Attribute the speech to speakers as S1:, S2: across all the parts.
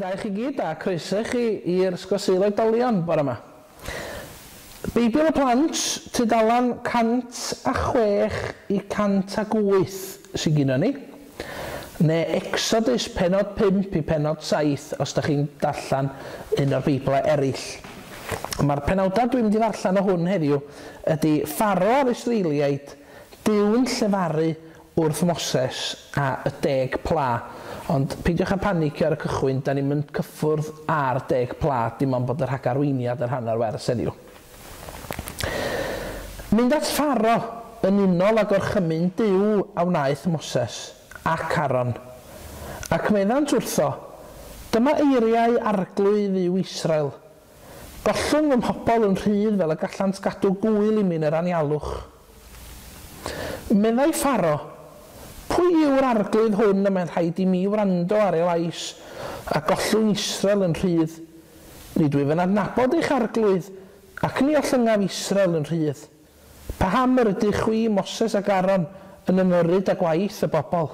S1: da i chi gyd a croeso i chi i'r Ysgol Sul Oedolion bore yma. Beibl y Plant, tudalan 106 i 108 sy'n gyda ni. Neu Exodus penod 5 i penod 7 os da chi'n darllen un o'r Beiblau eraill. Mae'r penawdau dwi'n mynd i ddarllen o hwn heddiw ydy Pharo a'r Israeliaid, Duw'n llefaru wrth Moses a y 10 pla. Ond peidiwch â panicio ar y cychwyn, da ni'n mynd cyffwrdd ar 10 pla, dim ond bod y rhagarweiniad yn rhan o'r wers heddiw. Mynd at Pharo yn unol â gorchymyn Duw a wnaeth Moses ac Aaron. Ac meddant wrtho, dyma eiriau Arglwydd Dduw Israel. Gollwng fy mhobl yn rhydd fel y gallant gadw gŵyl i mi yn yr anialwch. Meddai Pharo, pwy yw'r arglwydd hwn y mae'n rhaid i mi wrando ar ei lais a gollwng Israel yn rhydd? Nid wyf yn adnabod eich arglwydd, ac ni ollyngaf Israel yn rhydd. Paham yr ydych chwi, Moses ac Aaron, yn ymyrryd â gwaith y bobl?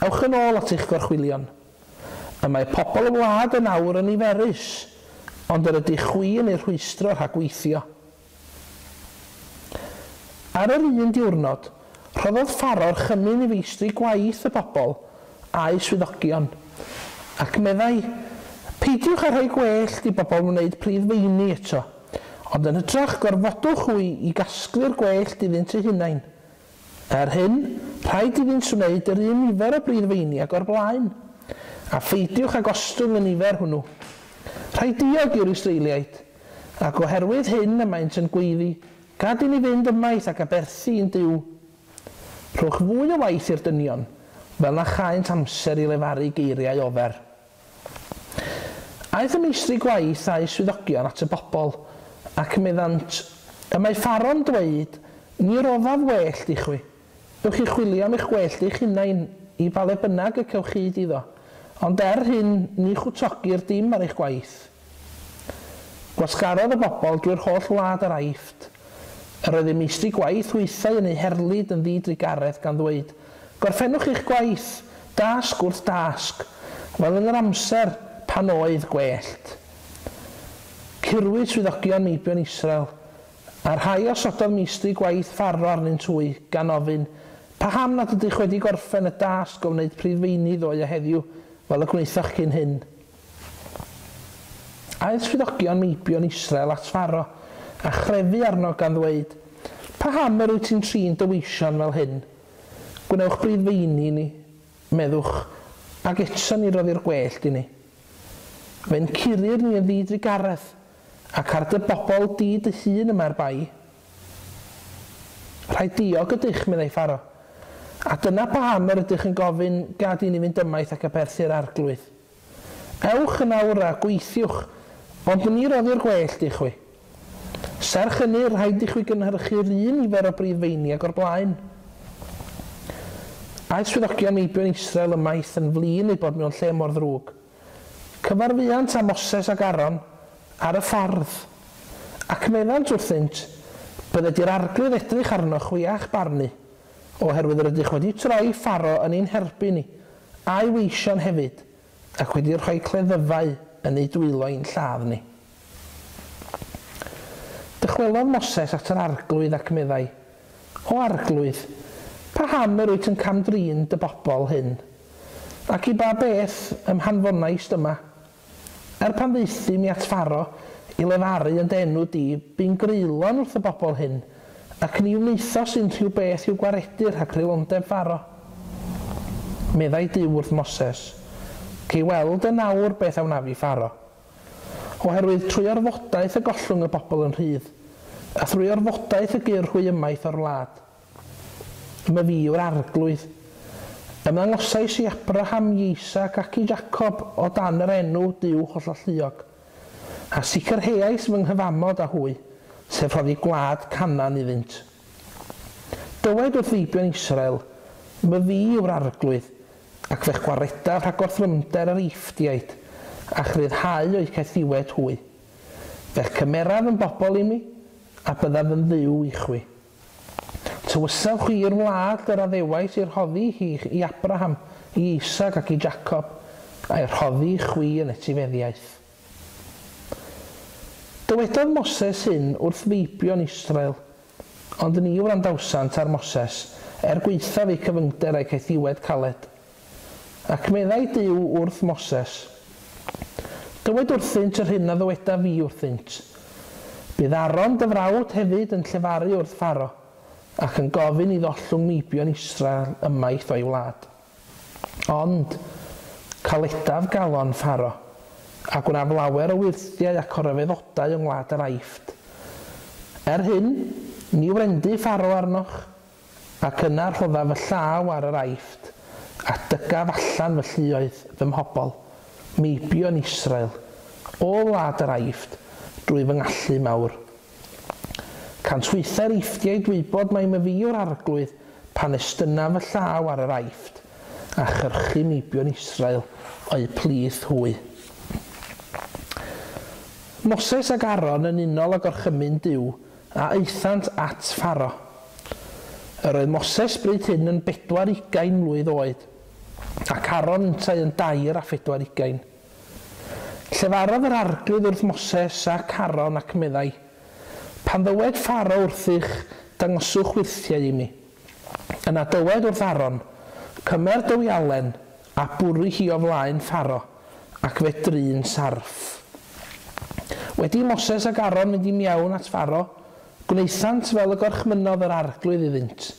S1: Ewch yn ôl at eich gorchwylion. Y mae pobl y wlad yn awr yn niferus, ond yr ydych chwi yn eu rhwystro rhag gweithio. Ar yr un diwrnod, rhoddodd Pharo orchymyn i feistri gwaith y bobl a'u swyddogion, ac meddai, peidiwch â rhoi gwellt i bobl wneud priddfeini eto, ond yn hytrach gorfodwch hwy i gasglu'r gwellt iddynt eu hunain. Er hyn, rhaid iddynt wneud yr un nifer o briddfeini ag o'r blaen, a pheidiwch â gostwng y nifer hwnnw. Rhaid diog yw'r Israeliaid, ac oherwydd hyn y maent yn gweiddi, gad i ni fynd ymaith ac aberthu i'n Duw. Rhowch fwy o waith i'r dynion, fel na chaent amser i lefaru geiriau ofer. Aeth y meistri gwaith a'u swyddogion at y bobl, ac meddant, y mae Pharo'n dweud, ni roddaf wellt i chwi. Ewch i chwilio am eich gwellt eich hunain, i ba le bynnag y cewch hyd iddo, ond er hyn ni chwtogir dim ar eich gwaith. Gwasgarodd y bobl drwy'r holl wlad yr Aifft. Yr oedd eu meistri gwaith hwythau yn eu herlid yn ddidrugaredd gan ddweud, gorffennwch eich gwaith, dasg wrth dasg, fel yn yr amser pan oedd gwellt. Curwyd swyddogion meibion Israel, a'r rhai osododd meistri gwaith Pharo arnynt hwy, gan ofyn, paham nad ydych wedi gorffen y dasg o wneud priddfeini ddoe a heddiw, fel y gwnaethoch cyn hyn? Aeth swyddogion meibion Israel at Pharo, a chrefu arno gan ddweud, paham yr wyt ti'n trin dy weision fel hyn? Gwnewch briddfeini i ni, meddwch, ac eto ni roddi'r gwellt i ni. Fe'n curir ni yn ddidrugaredd, ac ar dy bobl di dy hun y mae'r bai. Rhaid diog ydych, meddai Pharo, a dyna paham yr ydych yn gofyn gad i ni fynd ymaith ac aberthu'r arglwydd. Ewch yn awr a gweithiwch, ond ni roddi'r gwellt i chwi. Serch hynny, rhaid i chwi gynhyrchu'r un nifer o briddfeini ag o'r blaen. Aeth swyddogion meibion Israel ymaith yn flin eu bod mewn lle mor ddrwg. Cyfarfuant â Moses ac Aaron ar y ffordd, ac meddant wrthynt, bydded i'r arglwydd edrych arnoch chwi a'ch barnu, oherwydd yr ydych wedi troi Pharo yn ein herbyn ni, a'i weision hefyd, ac wedi rhoi cleddyfau yn ei dwylo i'n lladd ni. Dychwelodd Moses at yr arglwydd ac meddai, O arglwydd, paham yr wyt yn cam-drin dy bobl hyn? Ac i ba beth ym hanfonaist yma? Er pan ddaethum i at Pharo i lefaru yn dy enw di, bu'n greulon wrth y bobl hyn, ac ni wnaethos unrhyw beth i'w gwaredu rhag creulondeb Pharo. Meddai Duw wrth Moses, cei weld yn awr beth a wnaf i Pharo. Oherwydd trwy orfodaeth y gollwng y bobl yn rhydd, a thrwy orfodaeth y gyr hwy ymaith o'r wlad. My fi yw'r arglwydd. Ymddangosais i Abraham, Isaac ac i Jacob o dan yr enw Duw Hollalluog, a sicrheais fy nghyfamod â hwy, sef rhoddi gwlad Canaan iddynt. Dywed wrth feibion Israel, my fi yw'r arglwydd, ac fe'ch gwaredaf rhag gorthrymder yr Eifftiaid, a'ch rhyddhau o'u caethiwed hwy. Fe'ch cymeraf yn bobl i mi, a byddaf yn Dduw i chwi. Tywysaf chwi i'r wlad yr addewais i'r rhoddi hi i Abraham, i Isaac ac i Jacob, a'i rhoddi i chwi yn etifeddiaeth. Dywedodd Moses hyn wrth feibion Israel, ond ni wrandawsant ar Moses, er gwaethaf eu cyfyngder a'u caethiwed caled. Ac meddai Duw wrth Moses, Dywed wrthynt yr hyn a ddywedaf fi wrthynt. Bydd Aaron dy frawd hefyd yn llefaru wrth Pharo, ac yn gofyn iddo ollwng meibion Israel ymaith o'i wlad. Ond, caledaf galon Pharo, a gwnaf lawer o wyrthiau ac o ryfeddodau yng ngwlad yr Aifft. Er hyn, ni wrendy Pharo arnoch, ac yna rhoddaf fy llaw ar yr Aifft, a dygaf allan fy lluoedd fy mhobl, meibion Israel, o wlad yr Aifft, drwy fy ngallu mawr. Cant hwythau'r Eifftiaid wybod mai myfi yw'r Arglwydd pan estynaf fy llaw ar yr Aifft, a chyrchu meibion Israel o'u plith hwy. Moses ac Aaron yn unol â gorchymyn Duw a aethant at Pharo. Yr oedd Moses bryd hyn yn 24 mlwydd oed, ac Aaron yntau yn 43. Llefarodd yr Arglwydd wrth Moses ac Aaron ac meddai, Pan ddywed Pharo wrthych, dangoswch wyrthiau i mi. Yna dywed wrth Aaron, cymer dy wialen a bwrw hi o flaen Pharo, ac fe drin sarff. Wedi Moses ac Aaron mynd i mewn at Pharo, gwnaethant fel y gorchmynnodd yr Arglwydd iddynt.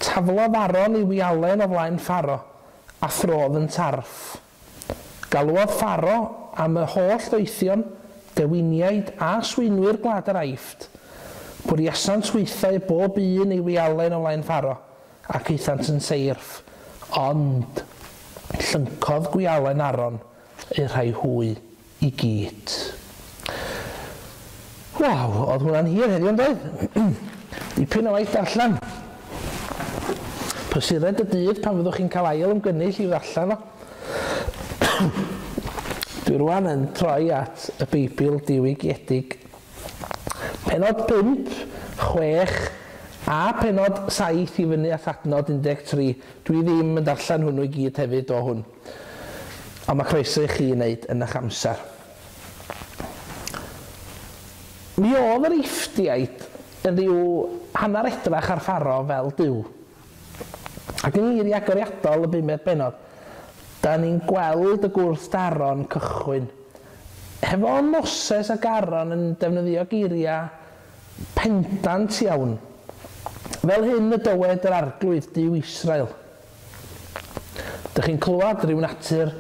S1: Taflodd Aaron ei wialen o flaen Pharo, a throdd yn sarff. Galwodd Pharo am y holl ddoethion, dewiniaid a swynwyr gwlad yr Aifft. Bwriasant hwythau bob un ei wialen o flaen Pharo, ac aethant yn seirff, ond llyncodd gwialen Aaron eu rhai hwy i gyd. Waw, oedd hwnna'n hir heddiw yn doedd? Dipyn o waith darllen. Prysured y dydd pan fyddwch chi'n cael ail ymgynnull i'w ddarllen o. Dwi rwan yn troi at y Beibl diwygiedig. Pennod 5, 6 a pennod 7 i fyny at adnod 13. Dwi ddim yn darllen hwnnw i gyd hefyd o hwn. Ond mae croeso i chi wneud yn eich amser. Mi oedd yr Eifftiaid yn rhyw hanner edrach ar Pharo fel Duw. Ac yng ngeiriau agoriadol y bumed bennod, da ni'n gweld y gwrthdaro'n cychwyn. Hefo Moses ac Aaron yn defnyddio geiriau pendant iawn. Fel hyn y dywed yr Arglwydd Duw Israel. Dych chi'n clywed rhyw natur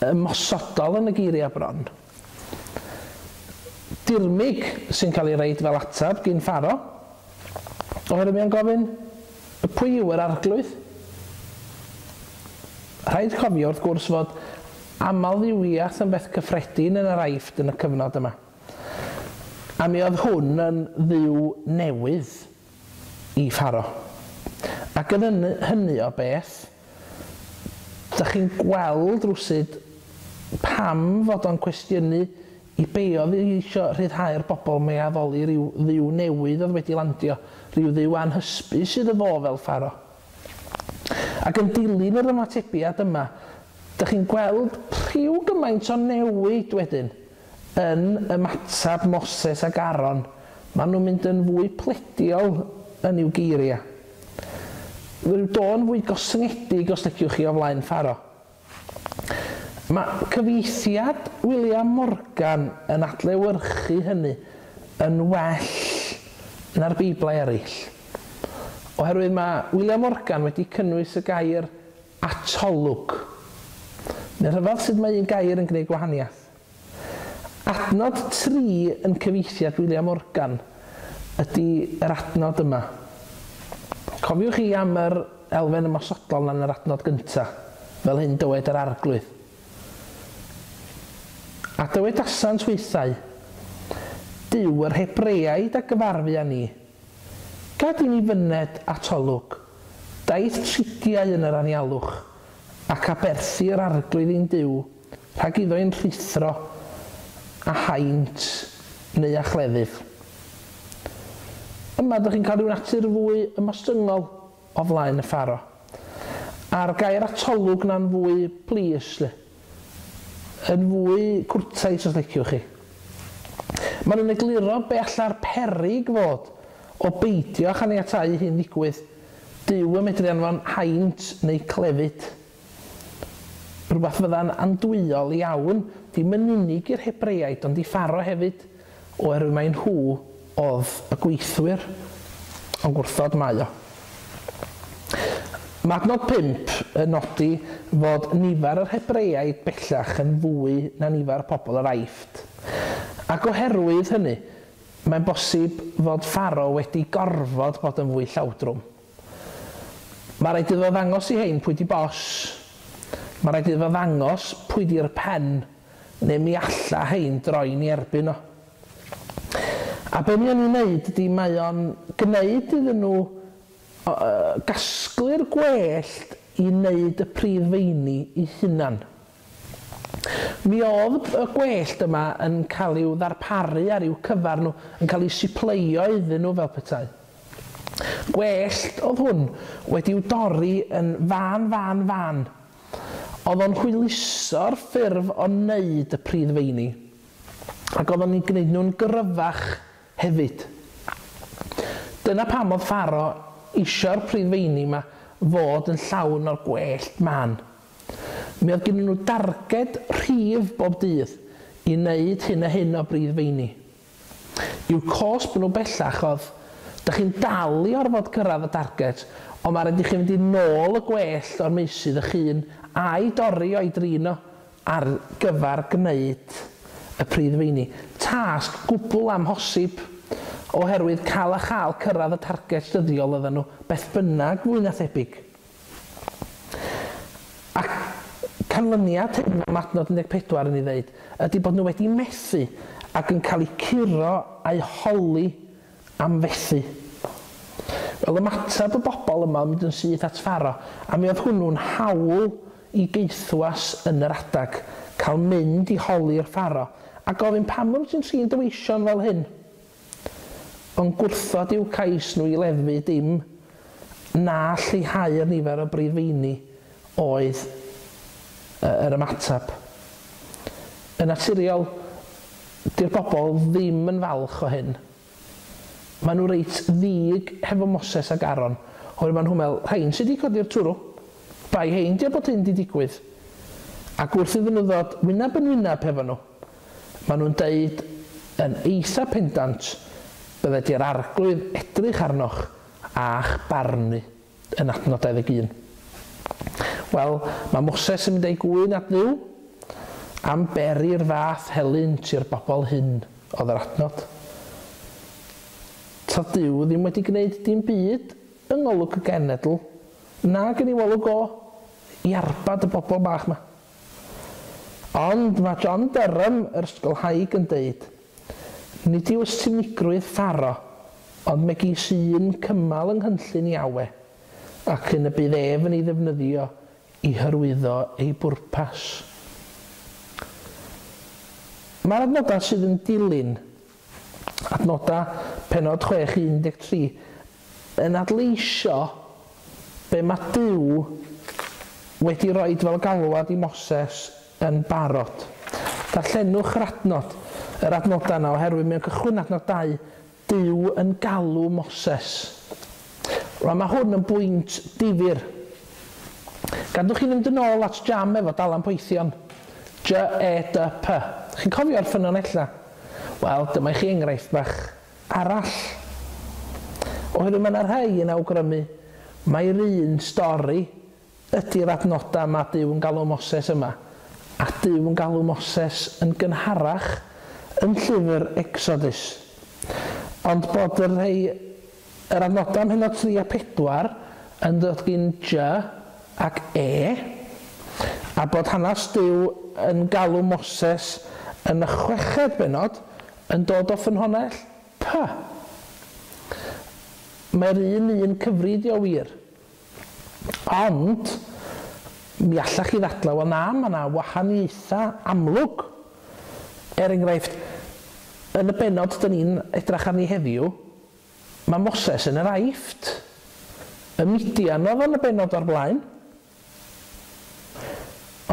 S1: ymosodol yn y geiriau bron. Dirmyg sy'n cael ei reid fel ateb gyn Pharo, oherwydd mae'n gofyn, pwy yw yr Arglwydd? Rhaid cofio wrth gwrs fod amlddiwiaeth yn beth cyffredin yn yr Aifft yn y cyfnod yma. A mi oedd hwn yn dduw newydd i Pharo. Ac yn hynny o beth, dych chi'n gweld rwsyd pam fod o'n cwestiynu i be oedd eisiau rhyddhau'r bobl mae addoli rhyw dduw newydd oedd wedi landio, rhyw dduw anhysbys iddo fo fel Pharo. Ac yn dilyn yr ymatebiad yma, dych chi'n gweld rhyw gymaint o newid wedyn yn ymateb Moses ac Aaron. Maen nhw'n mynd yn fwy plediol yn i'w geiriau. Rhyw dôn fwy gostyngedig os liciwch chi o flaen Pharo. Mae cyfieithiad William Morgan yn adlewyrchu hynny yn well na'r Beiblau eraill. Oherwydd mae William Morgan wedi cynnwys y gair atolwg. Neu rhyfedd sut mae un gair yn gwneud gwahaniaeth. Adnod 3 yn cyfieithiad William Morgan ydy yr adnod yma. Cofiwch chi am yr elfen ymosodol yn yr adnod gyntaf, fel hyn dywed yr Arglwydd. A dywedasant hwythau, Duw yr Hebreaid a gyfarfu â ni. Gad i ni fyned at olwg, daeth tridiau yn yr anialwch, ac aberthu yr Arglwydd ein Duw, rhag iddo ein rhuthro, a haint neu a chleddyf. Yma ydych chi'n cael rhyw natur fwy ymostyngol o flaen y Pharo. A'r gair atolwg na'n fwy plis, le. Yn fwy cwrtais os liciwch chi. Maen nhw'n egluro be alla'r peryg fod o beidio â chaniatáu hyn ddigwydd, Duw yn medru anfon haint neu clefyd. Rhywbeth fydda'n andwyol iawn, dim yn unig i'r Hebreaid ond i Pharo hefyd, oherwydd mai nhw oedd y gweithwyr, ond gwrthod mae o. Mae adnod 5 yn nodi fod nifer yr Hebreaid bellach yn fwy na nifer pobl yr Aifft. Ac oherwydd hynny, mae'n bosib fod Pharo wedi gorfod bod yn fwy llawdrwm. Mae rhaid iddo ddangos i hein pwy di bos. Mae rhaid iddo ddangos pwy di'r pen, neu mi alla hein droi'n ei erbyn o. A be mae o'n ei wneud ydy mae o'n gwneud iddyn nhw gasglu'r gwellt i wneud y pridd feini i hunan. Mi oedd y gwellt yma yn cael i'w ddarparu ar i'w cyfar nhw, yn cael ei sipleio iddyn nhw fel petai. Gwellt oedd hwn wedi'w dorri yn fân, fân, fân. Oedd o'n hwyluso'r ffurf o wneud y pridd feini, ac oedd o'n eu gwneud nhw'n gryfach hefyd. Dyna pam oedd Pharo isio'r priddfeini 'ma fod yn llawn o'r gwellt mân. Mi oedd gennyn nhw darged rhif bob dydd i wneud hyn a hyn o briddfeini. I'w cosb nhw bellach oedd, dych chi'n dal i orfod cyrraedd y darged, ond mae rhaid i chi fynd i nôl y gwellt o'r meysydd y'ch hun a'i dorri o'i drin o ar gyfer gwneud y priddfeini. Tasg gwbl amhosib, oherwydd cael a chael cyrraedd y targed dyddiol oedden nhw, beth bynnag fwy na thebyg. Ac canlyniad hyn, mae adnod 14 yn ei ddeud, ydy bod nhw wedi methu ac yn cael eu curo a'u holi am fethu. Wel, ymateb y bobl yma oedd mynd yn syth at Pharo, a mi oedd hwnnw'n hawl i gaethwas yn yr adag, cael mynd i holi'r Pharo, a gofyn pam wyt ti'n trin dy weision fel hyn? Ond gwrthod i'w cais nhw i leddfu dim, na lleihau'r nifer o brifeini oedd yr ymateb. Yn naturiol, 'di'r bobl ddim yn falch o hyn. Maen nhw reit ddig hefo Moses ac Aaron, oherwydd maen nhw'n meddwl, rhain sy 'di codi'r twrw. Bai hein 'di o bod hyn 'di digwydd. Ac wrth iddyn nhw ddod wyneb yn wyneb hefo nhw, maen nhw'n deud yn eitha pendant, bydde di'r Arglwydd edrych arnoch a'ch barnu, yn adnod 21. Wel, mae Moses yn mynd â'i gŵyn at Dduw am beri'r fath helynt i'r bobl hyn, oedd yr adnod. Ta Duw ddim wedi gwneud dim byd yng ngolwg y genedl, nag yn ei wolwg o, i arbad y bobl bach 'ma. Ond mae John Durham, yr ysgolhaig, yn deud, Nid yw ystumigrwydd Pharo ond megis un cymal yng nghynllun Iawe, ac un y bydd ef yn ei ddefnyddio i hyrwyddo ei bwrpas. Mae'r adnodau sydd yn dilyn Adnodau pennod 6, 13, yn adleisio be mae Duw wedi roid fel galwad i Moses yn barod. Darllenwch yr adnod, yr adnodau yna, oherwydd mewn cychwyn adnod 2, Duw yn galw Moses. Rwan mae hwn yn bwynt difyr. Gadwch chi fynd yn ôl at jam efo dalan poethion. J-E-D-P. Chi'n cofio'r ffynonellau? Wel, dyma i chi enghraifft bach arall. Oherwydd mae yna rhai yn awgrymu mai'r un stori ydy'r adnodau mae Duw yn galw Moses yma, a Duw yn galw Moses yn gynharach yn llyfr Exodus. Ond bod y rhai, yr adnodau ym mhennod 3 a 4 yn dod gin J ac E, a bod hanes Duw yn galw Moses yn y chweched bennod yn dod o ffynhonnell P. Mae'r un un cyfri 'di o wir. Ond, mi allach chi ddadlau, wel na, mae 'na wahaniaethau amlwg. Er enghraifft, yn y bennod 'dyn ni'n edrach arni heddiw, Mae Moses yn yr Aifft. Y Midian oedd yn y bennod o'r blaen.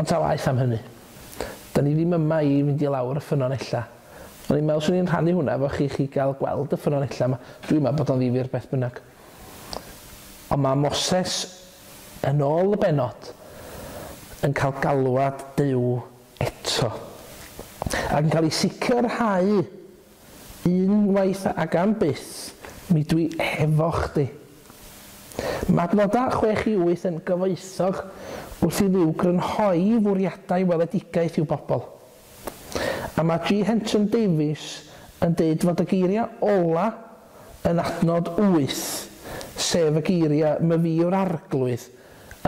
S1: Ond ta waeth am hynny. Da ni ddim yma i fynd i lawr y ffynonella. O'n i'n meddwl swn i'n rhannu hwnna efo chi, chi gael gweld y ffynonella yma. Dwi'n meddwl bod o'n ddifyr beth bynnag. Ond mae Moses, yn ôl y bennod, yn cael galwad Duw eto. Ac yn cael ei sicrhau unwaith ac am byth, mi dwi efo chdi. Mae adnodau 6 i 8 yn gyfoethog wrth i Dduw grynhoi fwriadau weledigaeth i'w bobl. A mae G. Henton Davies yn deud fod y geiriau ola yn adnod 8, sef y geiriau "Myfi yw'r Arglwydd",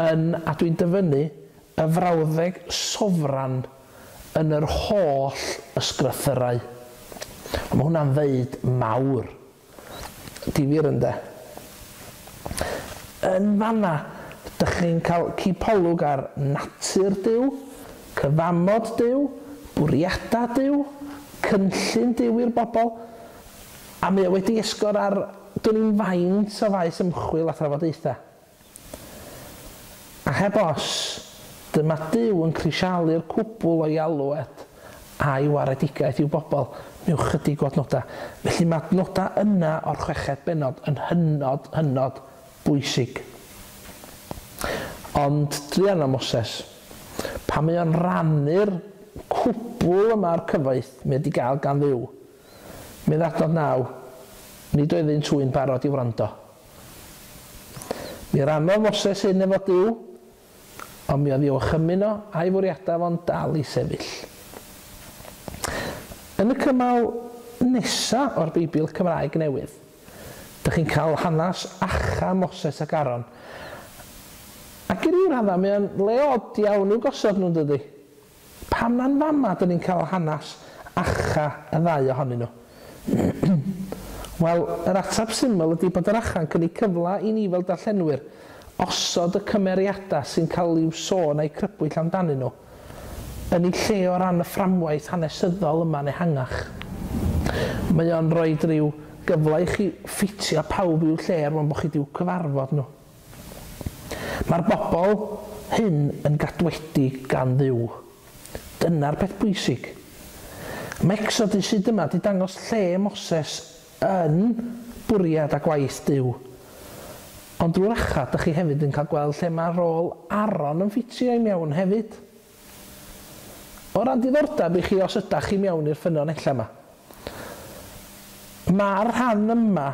S1: yn, a dwi'n dyfynnu, y frawddeg sofran yn yr holl ysgrythyrau. Mae hwnna'n ddeud mawr. Difyr ynde? Yn fanna, dych chi'n cael cipolwg ar natur Duw, cyfamod Duw, bwriadau Duw, cynllun Duw i'r bobl, a mae o wedi esgor ar dwn i'm faint o faes ymchwil a thrafodaethau. A heb os, dyma Duw yn crisialu'r cwbl o'i alwad a'i waredigaeth i'w bobl mewn chydig o adnodau. Felly mae adnodau yna o'r chweched bennod yn hynod, hynod bwysig. Ond druan o Moses, pan mae o'n rannu'r cwbl yma o'r cyfoeth mae wedi gael gan Dduw, medd adnod 9, nid oeddynt hwy'n barod i wrando. Mi rannodd Moses hyn efo Duw, ond mi oedd i'w orchymyn o a'i fwriadau fo'n dal i sefyll. Yn y cymal nesa o'r Beibl Cymraeg Newydd, dych chi'n cael hanes acha Moses ac Aaron. Ac i ryw raddau, mae o'n le od iawn i'w gosod nhw'n dydy. Pam na'n fama dyn ni'n cael hanes acha y ddau ohonyn nhw? Wel, yr ateb syml ydy bod yr acha'n cynnig cyfle i ni fel darllenwyr osod y cymeriadau sy'n cael i'w sôn a'i crybwyll amdanyn nhw yn ei lle o ran y fframwaith hanesyddol yma'n ehangach. Mae o'n rhoi rhyw gyfle i chi ffitio pawb i'w lle er mwyn bod chi wedi'w cyfarfod nhw. Mae'r bobl hyn yn gadwedig gan Dduw. Dyna'r peth bwysig. Mae Exodus hyd yma wedi dangos lle Moses yn bwriad a gwaith Duw. Ond drwy'r acha, dych chi hefyd yn cael gweld lle mae rôl Aaron yn ffitio i mewn hefyd. O ran diddordeb i chi os ydach chi mewn i'r ffynonella yma. Mae'r rhan yma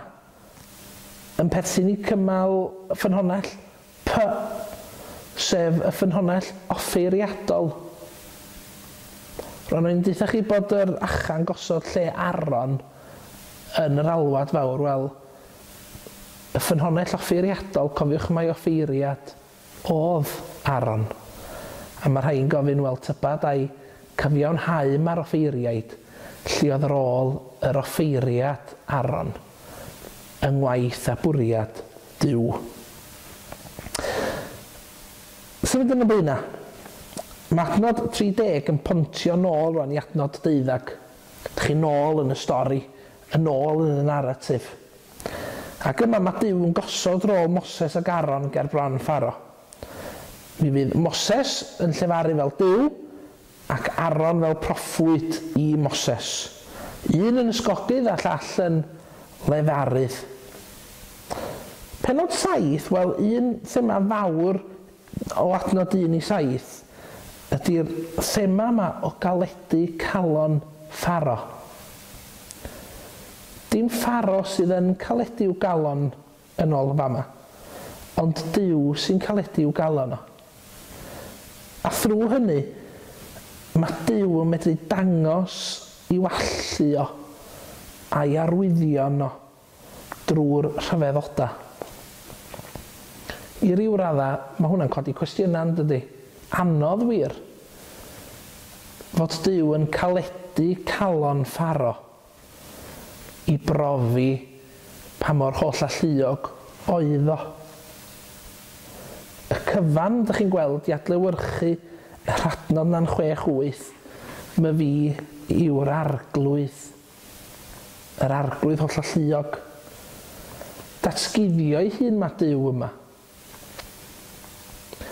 S1: yn perthyn i cymal ffynhonnell P, sef y ffynhonnell offeiriadol. Ro'n i'n deutha chi bod yr acha'n gosod lle Aaron yn yr alwad fawr. Wel, y ffynhonnell offeiriadol, cofiwch mai offeiriad oedd Aaron. A mae rhai'n gofyn, wel, tybad ai cyfiawnhau mae'r offeiriaid, lle oedd rôl yr offeiriad Aaron yng ngwaith a bwriad Duw. Symud yn y blaenau. Mae adnod 30 yn pontio nôl rwan i adnod 12. Dych chi nôl yn y stori, yn ôl yn y naratif. Ac yma mae Duw yn gosod rôl Moses ac Aaron ger bron Pharo. Mi fydd Moses yn llefaru fel Duw ac Aaron fel proffwyd i Moses. Un yn ysgogydd a llall yn lefarydd. Pennod 7, wel, un thema fawr o adnod 1 i 7 ydy'r thema yma o galedu calon Pharo. Dim Pharo sydd yn caledu i'w galon yn ôl fama, ond Duw sy'n caledu i'w galon o. A thrwy hynny, mae Duw yn medru dangos i'w allu o a'i arwyddion o drwy'r rhyfeddodau. I ryw radda, mae hwnna'n codi cwestiynau, yn dydy? Anodd wir. Fod Duw yn caledu calon Pharo i brofi pa mor holl alluog oedd o. Y cyfan, dych chi'n gweld, i adlewyrchu yr adnod na'n 6-8, mae fi yw'r Arglwydd. Yr Arglwydd holl alluog. Datguddio ei hun mae Duw yma.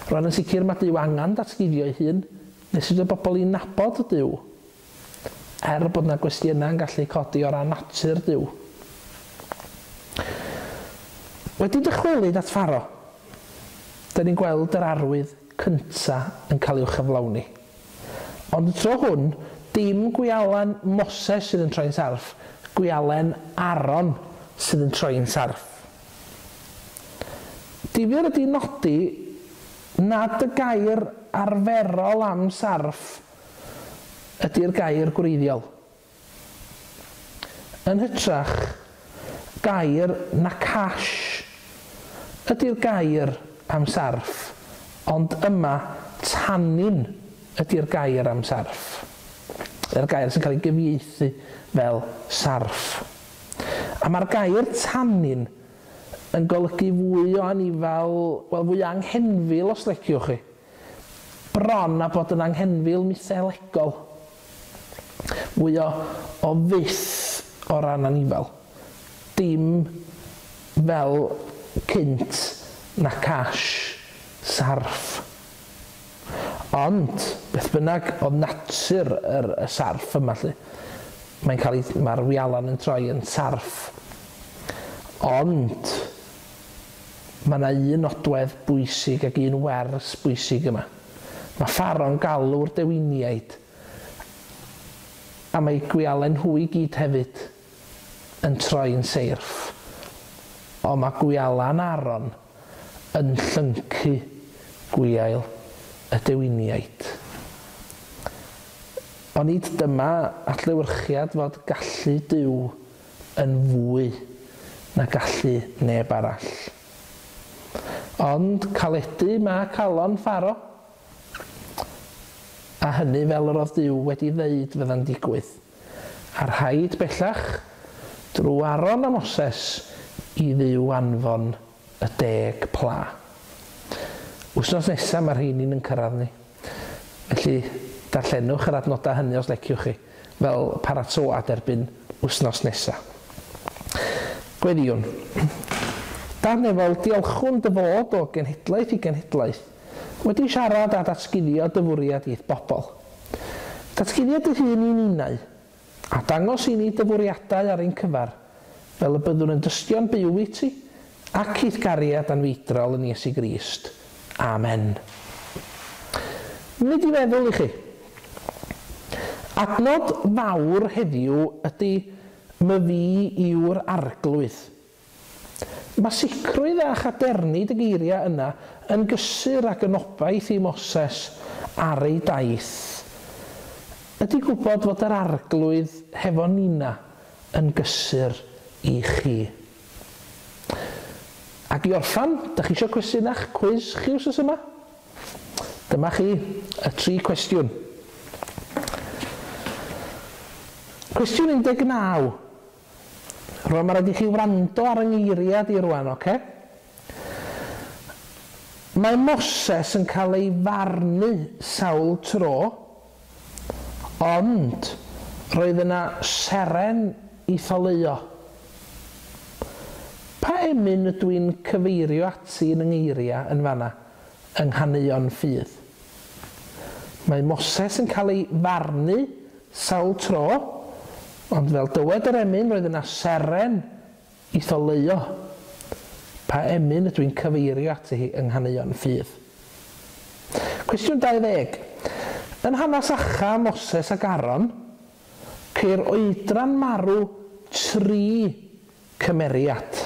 S1: Rwan yn sicr mae Duw angen datguddio ei hun. Nes i dod bobl i nabod Duw, er bod yna gwestiynau yn gallu codi o ran natur Duw. Wedi dychwelyd at Pharo, da ni'n gweld yr arwydd cynta yn cael ei chyflawni. Ond y tro hwn, dim gwialen Moses sydd yn troi'n sarff, gwialen Aaron sydd yn troi'n sarff. Difyr ydy nodi nad y gair arferol am sarff ydy'r gair gwreiddiol. Yn hytrach, gair nakash ydy'r gair am sarff, ond yma tanin ydy'r gair am sarff. Yr gair sy'n cael ei gyfieithu fel sarff. A mae'r gair tanin yn golygu fwy o anifal, wel fwy anghenfil os leciwch chi. Bron a bod yn anghenfil mytholegol. Fwy o fyth o ran anifal. Dim fel cynt na cash, sarff. Ond, beth bynnag oedd natur y sarff yma, lle, mae'n cael ei, mae'r wialan yn troi yn sarff. Ond, mae yna un nodwedd bwysig ac un wers bwysig yma. Mae Pharo'n galw'r dewiniaid, a mae gwialen hwy gyd hefyd yn troi'n seirff. Ond mae gwialan Aaron yn llyncu gwiail y dewiniaid. Ond nid dyma adlewyrchiad fod gallu Duw yn fwy na gallu neb arall. Ond caledu mae calon Pharo, a hynny fel yr oedd Duw wedi ddeud fydda'n digwydd. A rhaid bellach, drwy Aaron a Moses, i Dduw anfon y 10 pla. Wsnos nesaf mae'r rheini'n yn cyrraedd ni. Felly, darllenwch yr adnodau hynny os leciwch chi, fel paratoad erbyn wsnos nesaf. Gweddïwn. Dad nefol, diolchwn dy fod o genhedlaeth i genhedlaeth, wedi siarad a datguddio dy fwriad i'th bobl. Datguddio dy hun i'n unau, a dangos i ni dy fwriadau ar ein cyfar, fel y byddwn yn dystio'n byw i ti, ac i'th gariad anfeidrol yn Iesu Grist. Amen. Nid i feddwl i chi. Adnod fawr heddiw ydy myfi yw'r arglwydd. Mae sicrwydd a chadernid y geiriau yna yn gysur ac yn obaith i Moses ar ei daith. Ydy gwybod fod yr arglwydd hefo nina yn gysur i chi. Ac i orffan, da chi eisiau cwestiynach cwis chi wsos yma? Dyma chi y 3 cwestiwn. Cwestiwn 19. Rwan mae rhaid i chi wrando ar yng ngeiriad i rwan, oce? Mae Moses yn cael ei farnu sawl tro, ond roedd yna seren i tholeuo. Pa emyn ydw i'n cyfeirio ati yn yng ngeiriau yn fanna, yng nghaneuon ffydd? Mae Moses yn cael ei farnu sawl tro, ond fel dywed yr emyn, roedd yna seren i tholeuo. Pa emyn ydw i'n cyfeirio ati hi yng nghaneuon ffydd? Cwestiwn 20. Yn hanes Acha, Moses ac Aaron, ceir oedran marw 3 cymeriad.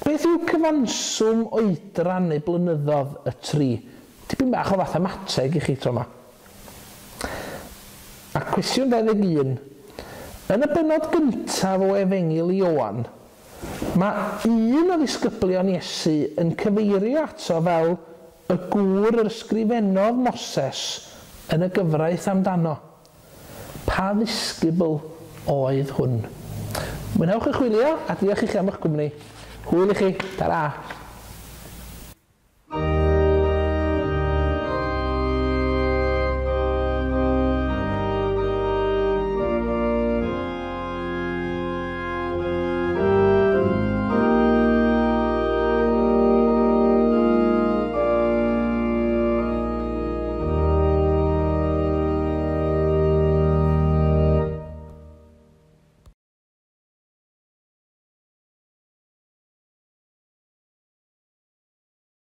S1: Beth yw cyfanswm oedran neu blynyddodd y 3? Tipyn bach o fathemateg i chi tro yma. A cwestiwn 21. Yn y bennod gyntaf o Efengyl Ioan, mae un o ddisgyblion Iesu yn cyfeirio ato fel y gŵr yr ysgrifennodd Moses yn y gyfraith amdano. Pa ddisgybl oedd hwn? Mwynhewch y chwilio a diolch i chi am eich cwmni. Hwyl i chi. Ta-ra!